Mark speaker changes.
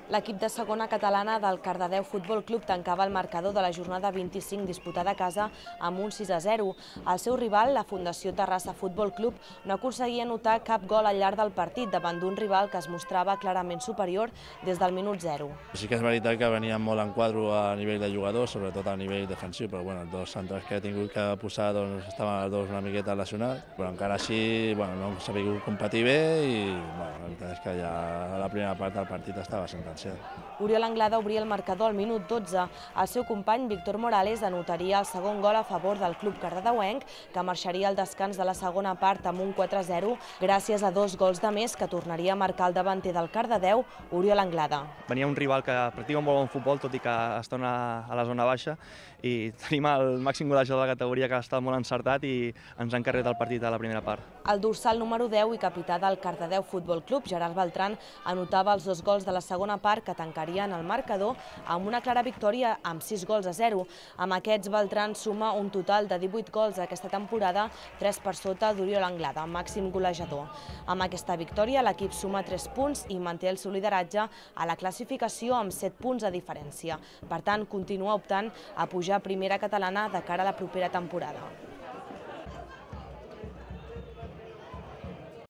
Speaker 1: L'equip de segona catalana del Cardedeu Futbol Club tancava el marcador de la jornada 25 disputada a casa amb un 6-0. El seu rival, la Fundació Terrassa Futbol Club, no aconseguia anotar cap gol al llarg del partit davant d'un rival que es mostrava clarament superior des del minut 0.
Speaker 2: Sí que és veritat que veníem molt en quadro a nivell de jugadors, sobretot a nivell defensiu, però els dos centrals que he tingut que posar estaven els dos una miqueta lesionats, però encara així no hem sabut competir bé i la veritat és que ja a la primera part del partit estava sentenciat.
Speaker 1: Oriol Anglada obria el marcador al minut 12. El seu company Víctor Morales anotaria el segon gol a favor del club cardedeuenc, que marxaria al descans de la segona part amb un 4-0 gràcies a dos gols de més que tornaria a marcar el davanter del Cardedeu, Oriol Anglada.
Speaker 3: Venia un rival que practica un molt bon futbol, tot i que està a la zona baixa, i tenim el màxim golejador de la categoria que ha estat molt encertat i ens ha encarregat el partit a la primera part.
Speaker 1: El dorsal número 10 i capità del Cardedeu Futbol Club, Gerard Beltran, anotava els dos gols de la segona part que tancarien el marcador amb una clara victòria amb 6-0. Amb aquests, Beltran suma un total de 18 gols aquesta temporada, 3 per sota d'Oriol Anglada, màxim golejador. Amb aquesta victòria, l'equip suma 3 punts i manté el seu lideratge a la classificació amb 7 punts de diferència. Per tant, continua optant a pujar a primera catalana de cara a la propera temporada.